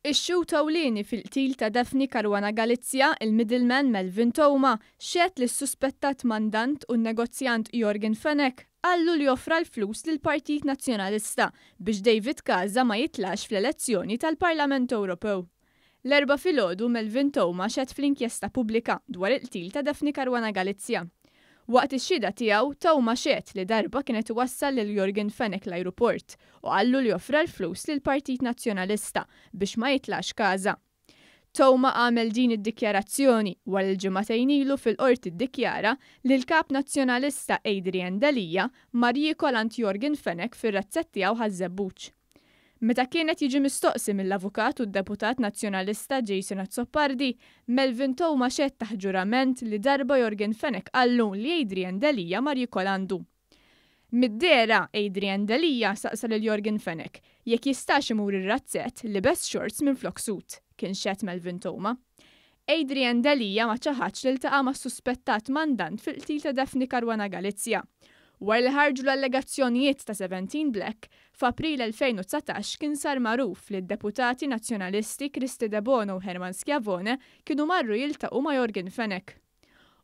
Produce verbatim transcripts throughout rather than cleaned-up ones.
Ix-xhud ewlieni fil-qtil ta' Daphne Caruana Galizia, il-middleman Melvin Theuma, xehed li s-suspettat mandant u n-negozjant Yorgen Fenech qallu li offra l-flus lill-Partit Nazzjonalista biex David Casa ma jitlax fl-elezzjoni tal-Parlament Ewropew. L-Erbgħa filgħodu Melvin Theuma xehed fl-inkjesta pubblika dwar il-qtil ta' Daphne Caruana Galizia. Waqt ix-xhieda tiegħu, Theuma xehed li darba kien qed iwassal lil Yorgen Fenech l-ajruport u qallu li offra l-flus lill-Partit Nazzjonalista biex ma jitlax Casa. Theuma għamel din id-dikjarazzjoni wara li ġimagħtejn ilu fil-qorti ddikjara li l-Kap Nazzjonalista Adrian Delia mar jiekol għand Yorgen Fenech fir-razzett tiegħu Ħaż-Żebbuġ. Meta kien qed jiġi mistoqsi mill-avukat u d-deputat Nazzjonalista Jason Azzopardi, Melvin Theuma xehed taħt ġurament li darba Yorgen Fenech qallu li Adrian Delia mar jiekol għandu. Mid-dehra, Adrian Delia saqsa lil Yorgen Fenech jekk jistax imur ir-razzett liebes shorts minflok suit, kien xehed Melvin Theuma. Adrian Delia ma ċaħadx li ltaqa' mas-suspettat mandant fil-qtil ta' Daphne Caruana Galizia. Wara li ħarġu l-allegazzjonijiet ta' seventeen Black, f'April elfejn u dsatax kien sar magħruf li d-deputati nazzjonalisti Kristy Debono u Herman Schiavone kienu marru jiltaqgħu ma' Yorgen Fenech.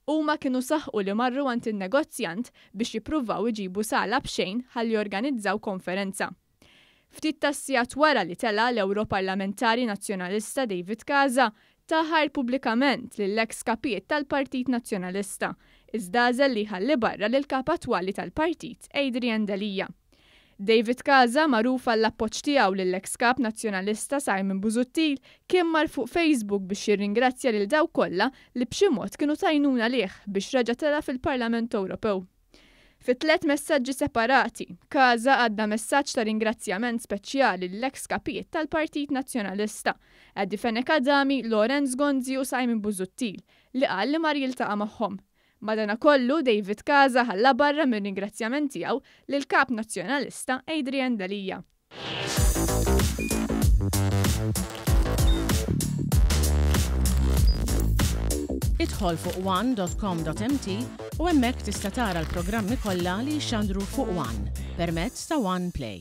Huma kienu saħqu li marru għand in-negozjant biex jippruvaw iġibu sala b'xejn ħalli jorganizzaw konferenza. Ftit tas-sigħat wara li tela' l-Europarlamentari Nazzjonalista David Casa taħar pubblikament lill-eks kapijiet tal-Partit Nazzjonalista, iżda għażel li jħalli barra lil kap attwali tal-partit Adrian Delia. David Casa, magħruf għall-appoġġ tiegħu lill-eks kap Nazzjonalista Simon Busuttil, kien mar fuq Facebook biex jirringrazzja lil dawk kollha li b'xi mod kienu tajnuna lih biex reġa' tela' fil-Parlament Ewropew. Fi tliet messaġġi separati, Casa għadda messaġġ ta' ringrazzjament speċjali lill-eks kapijiet tal-Partit Nazzjonalista, Eddie Fenech Adami, Lawrence Gonzi u Simon Busuttil, li qal li mar jiltaqa' magħhom. Madanakollu, David Casa ħalla barra mir-ringrazzjament tiegħu lil kap Nazzjonalista Adrian Delia. Idħol fuq one dot com dot m t u hemmhekk tista' tara l-programmi kollha li jxandru fuq One permezz ta' One Play.